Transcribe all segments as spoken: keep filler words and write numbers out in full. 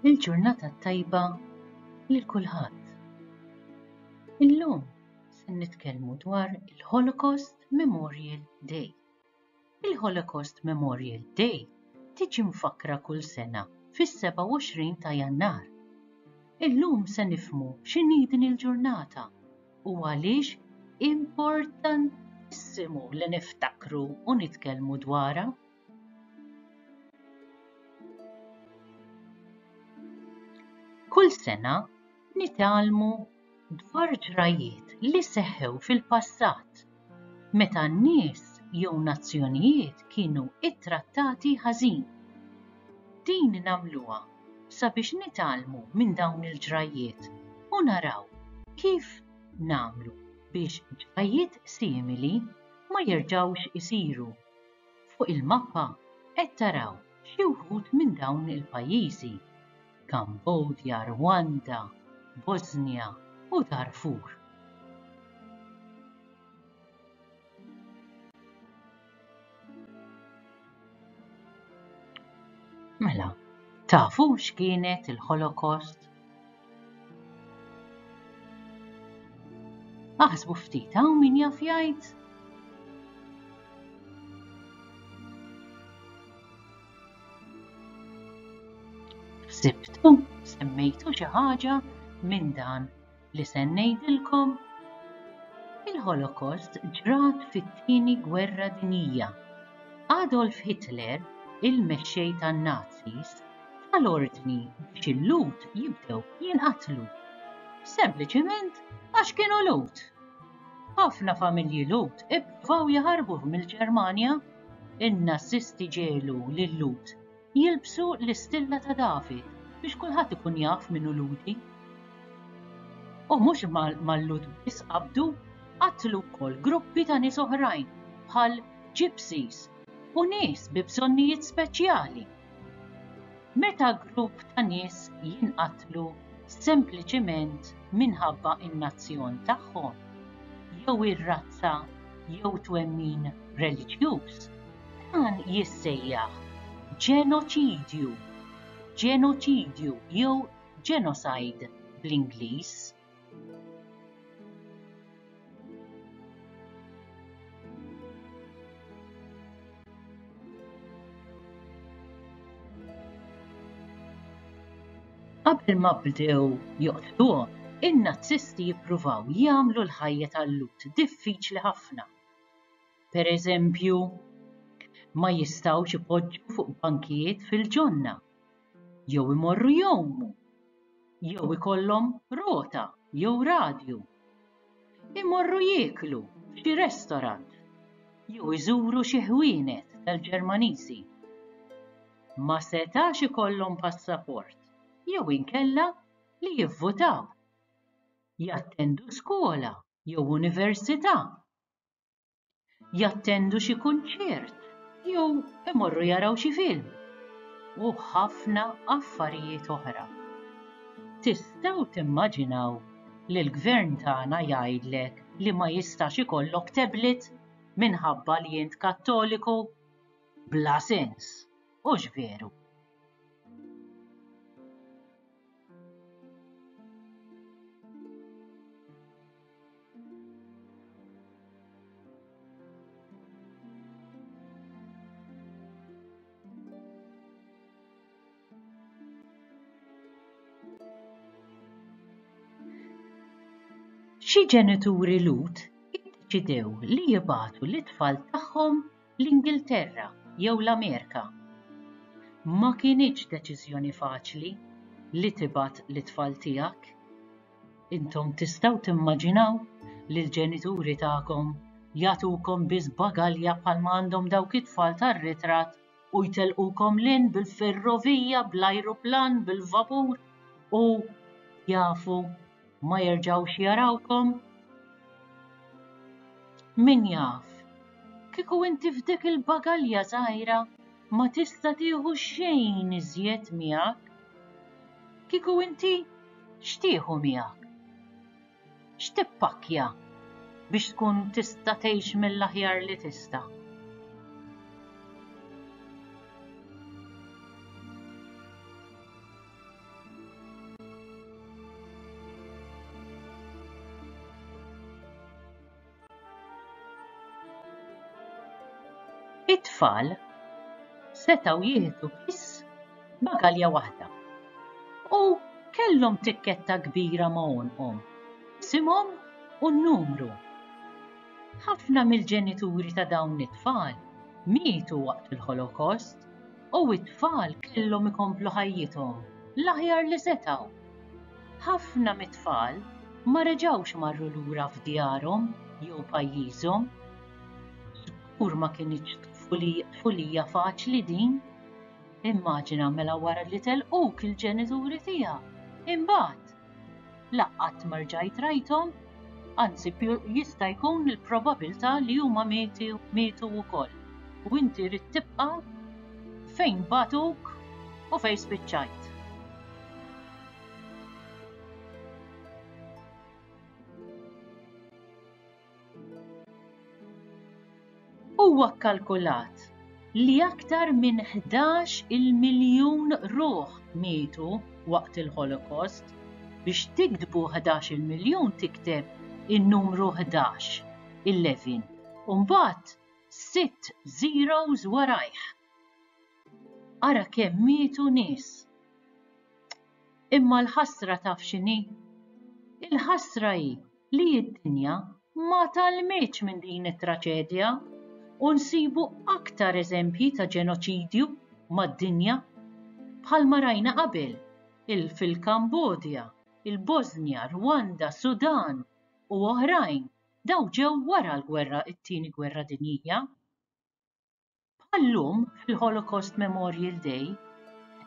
Il-ġurnata t-tajba lil kulħadd. Illum se nitkellmu dwar il-Holocaust Memorial Day. Il-Holocaust Memorial Day tiġi mfakkra kull sena fis-sebgħa u għoxrin ta' Jannar. Illum se nifhmu x'inhi din il-ġurnata u għaliex importantissimu li niftakru u nitkellmu dwarha. Kull sena nitgħallmu dwar ġrajiet li seħħew fil-passat, meta n-nies jew nazzjonijiet kienu ittrattati ħażin. Din nagħmluha sabiex nitgħallmu minn dawn il-ġrajiet u naraw kif nagħmlu biex ġrajiet simili ma jerġgħux isiru. Fuq il-mappa qed taraw xi wħud minn dawn il-pajjiżi: Kambodja, Rwanda, Bosnia u Darfur. Mela, tafu x'kienet il-Holocaust? Aħsbu ftit, hawn min jaf jgħid? Ħsibtu, semmejtu xi ħaġa minn dan li se ngħidilkom? Il-Holocaust ġrat fit-tieni gwerra dinjija. Adolf Hitler, il-mexxej tan-Nazis, tal-ordni biex il-Lhud jibdew jinqatlu. Sempliċiment għax kienu Lhud. Ħafna familji Lhud ippruvaw jaħarbu mill-Ġermanja. In-Nazisti ġelu lil-Lhud jilbsu l-istilla ta' David biex kulħadd ikun jaf min hu Lhudi. U mhux mal-Lhud biss qabdu, qatlu wkoll gruppi ta' nies oħrajn bħal gypsies u nies bi bżonnijiet speċjali. Meta grupp ta' nies jinqatlu sempliċiment minħabba in-nazzjon tagħhom, jew ir-razza jew twemmin reliġjuż, dan jissejjaħ ġenoċidju, ġenoċidju jew genocide bl-Ingliż. Qabel ma bdew joqtluhom, in-Nazisti jippruvaw jagħmlu l-ħajja tal-Lhud diffiċli ħafna. Per eżempju, ma jistgħux ipoġġu fuq bankijiet fil-ġonna, jew imorru jgħumu, jew ikollhom rota jew radju. Imorru jieklu f'xi restorant, jew iżuru xi ħwienet tal-Ġermaniżi. Ma setax ikollhom passaport jew inkella li jivvutaw, jattendu skola jew università, jattendu xi kunċert jew imorru jaraw xi film u ħafna affarijiet oħra. Tistgħu timmaġinaw li l-gvern tagħna jgħidlek li ma jistax ikollok tablet minħabba li int Kattoliku? Bla sens, hux veru? Xi ġenituri Lhud iddeċidew li jibagħtu l-itfal tagħhom l-Ingilterra jew l-Amerika. Ma kinitx deċiżjoni faċli li tibgħat l-itfal tiegħek. Intom tistgħu timmaġinaw li l-ġenituri tagħkom jagħtukom biss bagalja bħalma għandhom dawk it-tfal tar-ritratt u jtelqukom lin bil-ferrovija, bl-ajruplan, bil-vapur u jafu ma jerġgħux jarawkom? Min jaf, kieku inti f'dik il-bagalja żgħira ma tista' tieħu xejn iżjed miegħek. Kieku inti x'tieħu miegħek? X'tippakkja biex tkun tista' tgħix mill-aħjar li tista'? It-tfal setgħu jieħdu biss bagalja waħda u kellhom tikketta kbira ma' għonqhom, isimhom u n-numru. Ħafna mill-ġenituri ta' dawn it-tfal mietu waqt il-Holocaust u t-tfal kellhom ikomplu ħajjithom l-aħjar li setgħu. Ħafna mit-tfal ma reġgħux marru lura f'djarhom jew pajjiżhom. Żgur ma kinitx tfulija faċli din. Immaġina mela wara li telquk il-ġenituri tiegħek. Imbagħad la qatt ma rġajt rajthom, anzi jista' jkun il-probabilità li huma mietu wkoll. U inti rrid tibqa' fejn bagħtuk u fejn spiċċajt. Huwa kkalkulat li aktar minn ħdax-il miljun ruħ mietu waqt il-Holocaust. Biex tiktbu ħdax-il miljun tikteb in-numru ħdax, eleven, u mbagħad sitt zeros warajh. Ara kemm mietu nies. Imma l-ħasra taf x'inhi? Il-ħasra hi li d-dinja ma tgħallmitx minn din it-traċedja u nsibu aktar eżempji ta' ġenoċidju mad-dinja bħalma rajna qabel il fil-Kambodja, il-Bosnia, Rwanda, Sudan u oħrajn daw ġew wara l-gwerra, it-tieni gwerra dinjija. Bħal-lum fil-Holocaust Memorial Day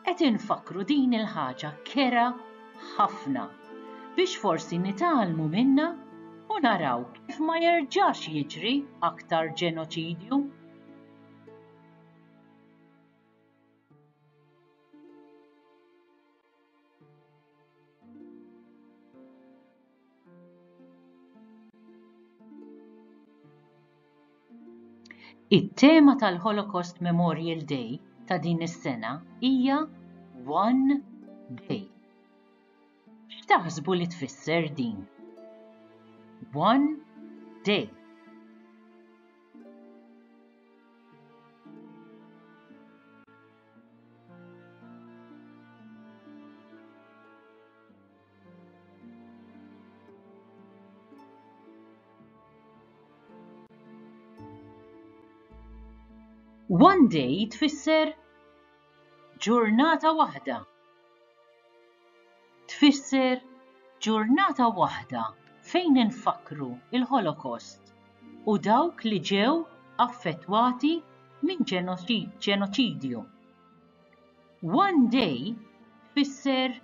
qed infakkru din il-ħaġa kera ħafna biex forsi nitgħallmu minnha u naraw kif ma jerġax jiġri aktar ġenoċidju. It-tema tal-Holocaust Memorial Day ta' din is-sena hija One Day. X'taħsbu li tfisser din? One Day. One Day tfisser ġurnata waħda. Tfisser ġurnata waħda fejn infakkru il-Holocaust u dawk li ġew affettwati minn ġenoċidju. One Day tfisser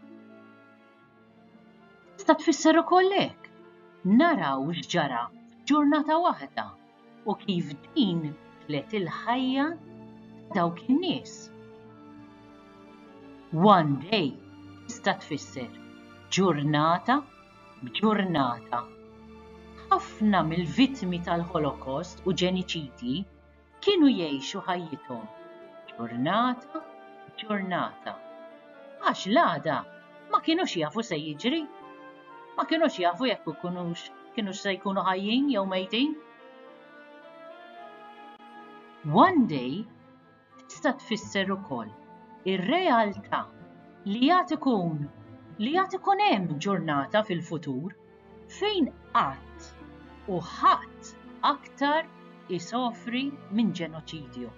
tista' tfisser ukoll hekk. Naraw x'ġara f'ġurnata waħda u kif din bidlet il-ħajja ta' dawk in-nies. One Day tista' tfisser ġurnata b'ġurnata. Ħafna mill-vittmi tal-Holocaust u ġeniċidji kienu jgħixu ħajjithom ġurnata b'ġurnata. Għax l-għada ma kinux jafu se jiġri. Ma kinux jafu jekk ikunux kienux se jkunu ħajjin jew mejtin. One Day tista' tfisser ukoll ir-realtà li għad ikun li għad ikun hemm ġurnata fil-futur fejn qatt u ħadd aktar isofri minn ġenoċidju.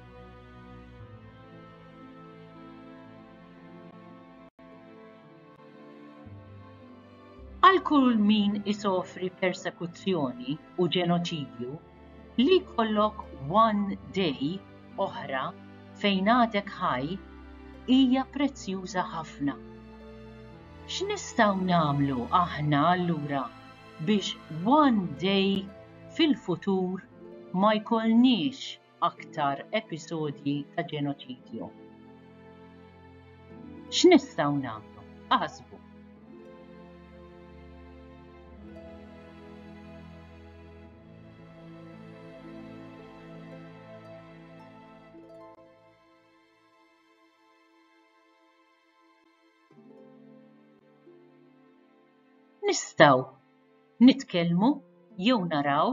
Għal kull min isofri persekuzzjoni u ġenoċidju, li jkollok one day oħra fejn għadek ħaj hija prezzjuża ħafna. X'nistgħu nagħmlu aħna allura biex one day fil-futur ma jkollniex aktar episodji ta' ġenoċidju? X'nistgħu nagħmlu? Aħsbu. Nistgħu nitkellmu jew naraw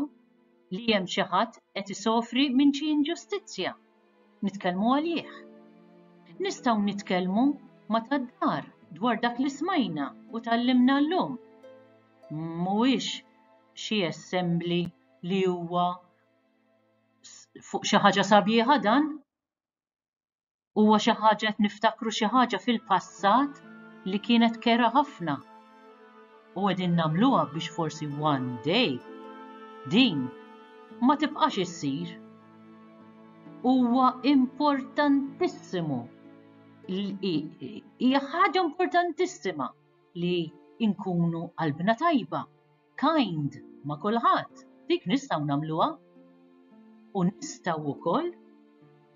li hemm xi ħadd qed isofri minn xi inġustizzja Nitkellmu għalih. Nistgħu nitkellmu ma' tad-dar dwar dak li smajna u tgħallimna llum. Mhuwiex xi assembly li huwa fuq xi ħaġa sabiħa dan. Huwa xi ħaġa qed niftakru xi ħaġa fil-passat li kienet kerha ħafna. U qegħdin nagħmluha biex forsi one day din ma tibqax issir. Huwa importantissimu. Hija ħaġa importantissima li nkunu qalbna tajba, kind ma' kulħadd. Dik nistgħu nagħmluha. U nistgħu wkoll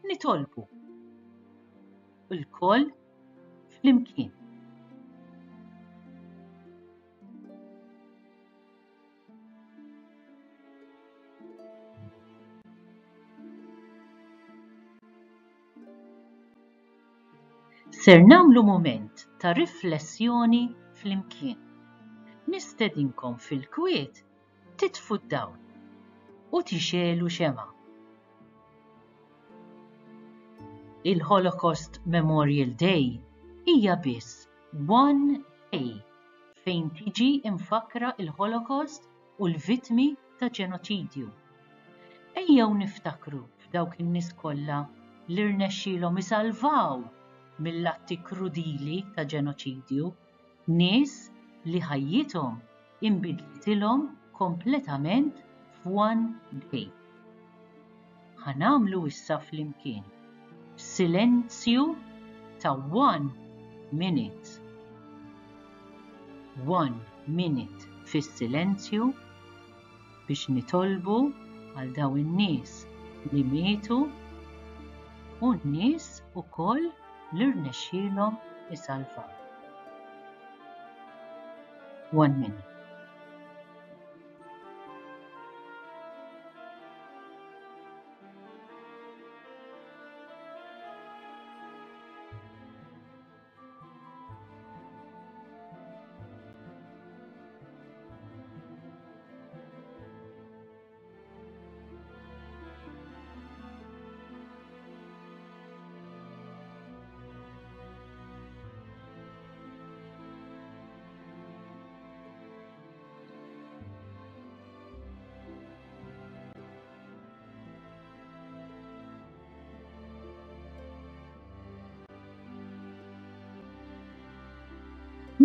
nitolbu. Ilkoll flimkien. Ser nagħmlu mument ta' riflessjoni flimkien. Nistedinkom fil-kwiet titfu d-dawl u tixegħlu xemgħa. Il-Holocaust Memorial Day hija biss one day fejn tiġi imfakra il-Holocaust u l-vittmi ta' ġenoċidju. Ejjew niftakru f'dawk in-nies kollha li rnexxielhom isalvaw mill-atti krudili ta' ġenoċidju, nies li ħajjithom inbidlitilhom kompletament f'one day. Ħa nagħmlu issa flimkien silenzju ta' one minute. One minute fis-silenzju biex nitolbu għal dawn in-nies li mietu u n-nies ukoll li rnexxielhom isalvaw. One minute.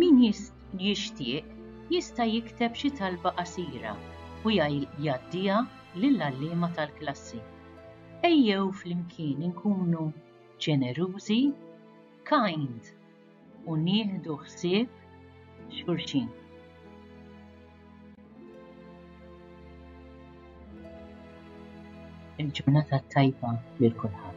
Min jixtieq jista' jikteb xi talba qasira u jgħaddiha lill-għalliema tal-klassi. Ejjew flimkien inkunu ġenerużi, kind u nieħdu ħsieb xulxin. Il-ġurnata tajba lil kulħadd.